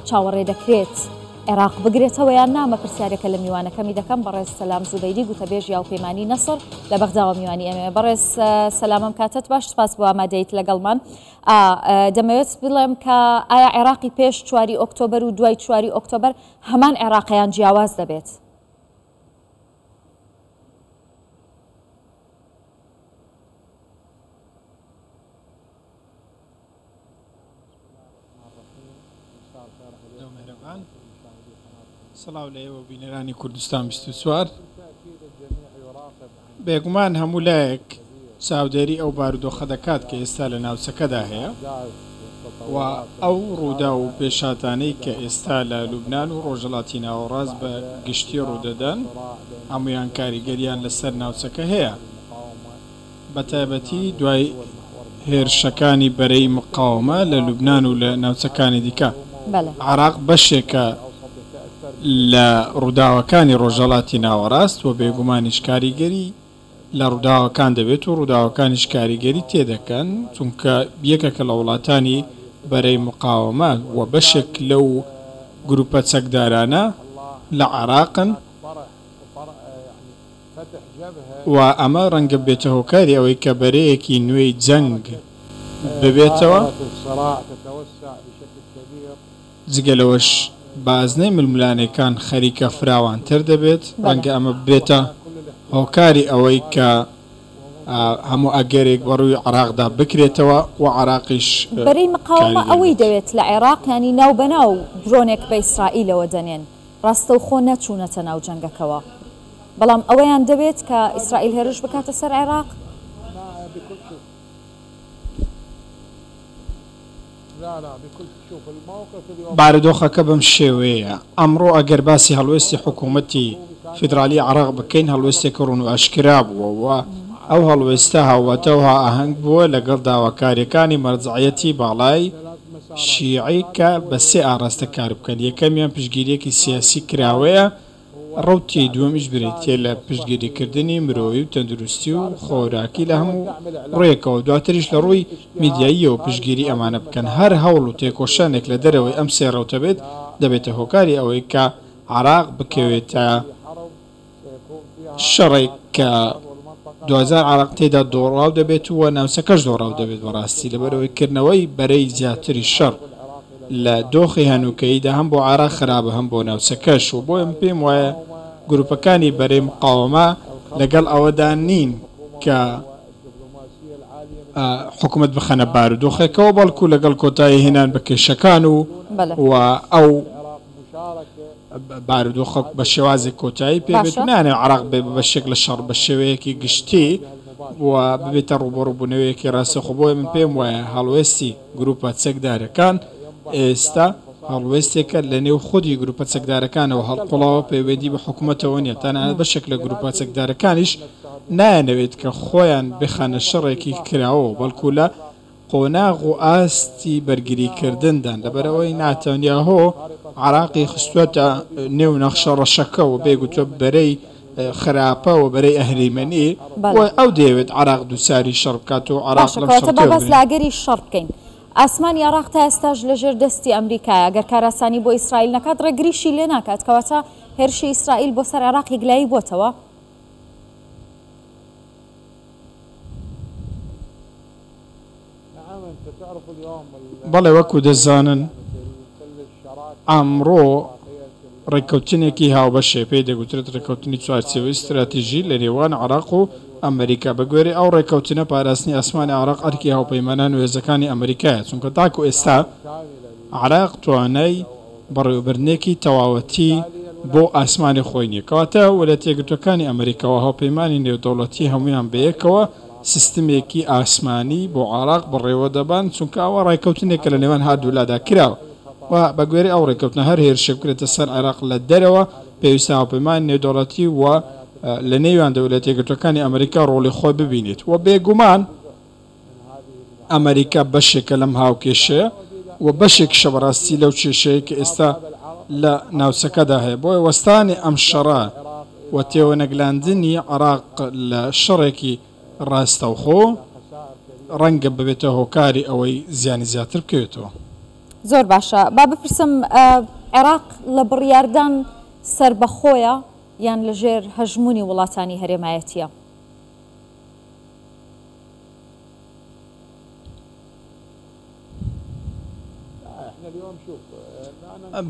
چاوەڕێ دەکرێت عێراق بگرێتەوە یان نا؟ ئەمە پرسیارێکە لە میوانەکەمی دەکەم، بەڕێز سەلام زوبەیری گوتەبێژی هاوپەیمانی نەسڕ لە بەغداوە میوانی ئێمەیە. بەڕێز سەلام ئەم کاتەت باش، سپاس بۆ ئامادەیت لەگەڵمان. دەمەوێت بڵێم کە ئایا عێراقی پێش چواری ئۆکتۆبەر و دوای چواری ئۆکتۆبەر هەمان عێراقیان جیاواز دەبێت؟ سڵاو لە ئێوە بینەرانی کوردستان 24. بێگومان هەموو لایەک چاودێری ئەو بارودۆخە دەکات کە ئێستا لە ناوچەکەدا هەیە و ئەو ڕووداو و پێشهاتانەی کە ئێستا لە لوبنان و ڕۆژهەڵاتی ناوەڕاست بە گشتی ڕوودەدەن هەموویان کاریگەریان لەسەر ناوچەکە هەیە. بەتایبەتی دوای هێرشەکانی بەرەی مقاوەمە لە لوبنان و لە ناوچەکانی دیکە. عێراق بەشێکە لە ڕووداوەکانی ڕۆژهەڵاتی ناوەڕاست و بێگومانیش کاریگەری لە ڕووداوەکان دەبێت و ڕووداوەکانیش کاریگەری تێدەکەن، چونکە یەکێکە لە وڵاتانی بەرەی مقاوەمە و بەشێک لەو گروپە چەکدارانە لە عێراقن. و ئەمە ڕەنگە ببێتە هۆکاری ئەوەی کە بەرەیەکی نوێی جەنگ ببێتەوە، جگە لەوەش بازنەی ململانێکان خەریکە فراوانتر دەبێت، ڕەنگە ئەمە ببێتە هۆکاری ئەوەی کە هەموو ئەگەرێک بەڕووی عێراقدا بکرێتەوە و عێراقیش بەرەی مقاوەمە کاریگەر ئەوەی بێت. دەوێت لە عێراق، یانی ناوبەناو درۆنێک بە ئیسرائیلەوە دەنێن، ڕاستەوخۆ نەچوونەتە ناو جەنگەکەوە، بەڵام ئەوەیان دەوێت کە ئیسرائیل هێرش بکاتە سەر عێراق؟ بارودۆخەکە بەم شێوەیەیە، ئەمڕۆ ئەگەر باسی هەڵوێستی حکوومەتی فیدراڵیی عێراق بکەین، هەڵوێستێکی ڕوون و ئاشکرا بووە و ئەو هەڵوێستە هاوواتا و هائاهەنگ بووە لەگەڵ داواکارییەکانی مەرجەعیەتی باڵای شیعی کە بە سێ ئاڕاستە کار بکەن، یەکەمیان پشتگیرییەکی سیاسی کراوەیە، ڕەوتی دووەمیش بریتییە لە پشتگیریکردنی مرۆیی و تەندروستی و خۆراکی لە هەموو ڕوویەکەوە، دواتریش لە ڕووی میدیاییەوە پشتگیری ئەمانە بکەن، هەر هەوڵ و تێکۆشانێک لە دەرەوەی ئەم سێ ڕەوتە بێت، دەبێتە هۆکاری ئەوەی کە عێراق بکەوێتە شەڕێک کە دواجار عێراق تێیدا دۆڕاو دەبێت و ناوچەکەش دۆڕاو دەبێت بەڕاستی لەبەرئەوەی کردنەوەی بەرەی زیاتری شەڕ لە دۆخی هەنووکەییدا هەم بۆ عێراق خراپە هەم بۆ ناوچەکەش و بۆیە من پێم وایە گروپەکانی بەرەی مقاوەمە لەگەڵ ئەوەدا نین کە حکومەت بخەنە بارودۆخێکەوە بەڵکو لەگەڵ کۆتایی هێنان بە کێشەکان و و ئەو بارودۆخە بە شێوازێک کۆتایی پێ بێت و نایانەوێت عێراق بێ بە بەشێک لە شەڕ بە شێوەیەکی گشتی و ببێتە ڕووبەڕووبوونەوەیەکی ڕاستەوخۆ، بۆیە من پێم وایە هەڵوێستی گرووپە چەکدارەکان ئێستا هەڵوێستێکە لە نێو خودی گرووپە چەکدارەکانەوە هەڵقوڵاوە پەیوەندی بە حکوومەتەوە نییە، تەنانەت بەشێک لە گرووپە چەکدارەکانیش نایانەوێت کە خۆیان بخەنە شەڕێکی کراوەوە بەڵکو لە قۆناغ و ئاستی بەرگریکردندان، لەبەرئەوەی ناتانیاهۆ عێراقی خستووەتە نێو نەخشە ڕەشەکەوە، پێی گوتووە بەرەی خراپە و بەرەی ئەهریمەنی و ئەو دەیەوێت عێراق دووچاری شەڕ بکات و عێراق باشە لەم شەڕ کەواتە با باس تێبگرن. لە ئەگەری شەڕ بکەین. ئاسمانی عێراق تا ئێستاش لەژێر دەستی ئەمریکایە، گەر کارئاسانی بۆ ئیسرائیل نەکات ڕێگریشی لێ ناکات، کەواتە هێرشی ئیسرائیل بۆ سەر عێراق یەکلایی بۆتەوە؟ بەڵێ وەکو دەزانن ئەمڕۆ ڕێککەوتنێکی هاوبەش هەیە پێی دەگوترێت ڕێککەوتنی چوارچێوەی ستراتیژی لە نێوان عێراق و ئەمریکا، بە گوێرەی ئەو ڕێککەوتنە پاراستنی ئاسمانی عێراق ئەرکی هاوپەیمانان و هێزەکانی ئەمریکایە، چونکە تاکو ئێستا عێراق توانای بەڕێوەبردنێکی تەواوەتی بۆ ئاسمانی خۆی نییە. کەواتە ویلایەتە یەکگرتووەکانی ئەمریکا و هاوپەیمانی نێودەوڵەتی هەموویان بەیەکەوە سیستمێکی ئاسمانی بۆ عێراق بەڕێوەدەبەن، چونکە ئەوە ڕێککەوتنێکە لە نێوان هەردوولادا کراوە و بەگوێرەی ئەو ڕێککەوتنە هەر هێرشێک بکرێتە سەر عێراق لە دەرەوە پێویستە هاوپەیمانی نێودەوڵەتی و لە نێویاندا ویلایەتە یەکگرتووەکانی ئەمریکا ڕۆڵی خۆی ببینێت و بێگومان ئەمەریکا بەشێکە لەم هاوکێشەیە و بەشێکیشە بەڕاستی لەو کێشەیە کە ئێستا لە ناوچەکەدا هەیە. بۆیە وەستانی ئەم شەڕە و تێوەنەگلاندنی عێراق لە شەڕێکی ڕاستەوخۆ ڕەنگە ببێتە هۆکاری ئەوەی زیانی زیاتر بکەوێتەوە. زۆر باشە با بپرسم عێراق لە بڕیاردان سەربەخۆیە یان لەژێر هەژموونی وڵاتانی هەرێمایەتییە؟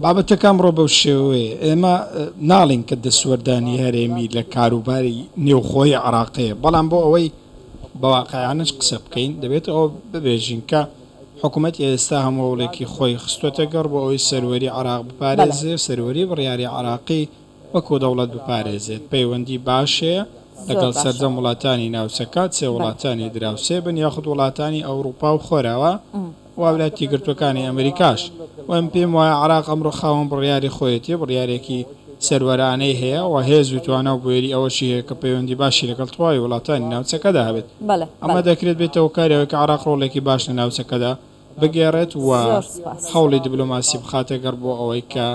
بابەتەکە ئەمڕۆ بەو شێوەیە ئێمە ناڵین کە دەستوەردانی هەرێمی لە کاروباری نێوخۆی عراقەیە بەڵام بۆ ئەوەی بە واقعیانەش قسە بکەین دەبێت ئەوە ببێژین کە حکوومەت ئێستا هەموو هەوڵێکی خۆی خستووەتە گەڕ بۆ ئەوەی سەروەری عراق بپارێزێ سەروەری بڕیاری عراقی وەکو دەوڵەت بپارێزێت، پەیوەندی باش هەیە لەگەڵ سەرجەم وڵاتانی ناوچەکە، چ وڵاتانی دراوسێ بن یاخود وڵاتانی ئەوروپا و خۆراوا و ولایەتە یەکگرتووەکانی ئەمریکاش. و من پێم وایە عێراق ئەمڕۆ خاوەن بڕیاری خۆیەتی، بڕیارێکی سەروەرانەی هەیە و هێز و توانا و بوێری ئەوەشی هەیە کە پەیوەندی باشی لەگەڵ تەواوی وڵاتانی ناوچەکەدا هەبێت. ئەمە دەکرێت بێتە هۆکاری ئەوەی کە عێراق ڕۆڵێکی باش لە ناوچەکەدا بگێڕێت و هەوڵی دیبلۆماسی بخاتە گەڕ بۆ ئەوەی کە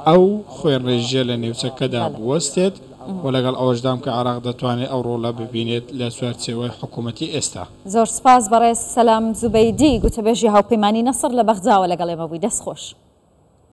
ئەو خوێنڕێژییە لە نێوچەکەدا بوەستێت و لەگەڵ ئەوەشدام کە عێراق دەتوانێت ئەو ڕۆڵە ببینێت لە چوارچێوەی حکوومەتی ئێستا. زۆر سوپاس بەڕێز سەلام زوبەیدی گوتەبێژی هاوپەیمانی نەسڕ لە بەغداوە لەگەڵ ئێمە بووی دەست خۆش.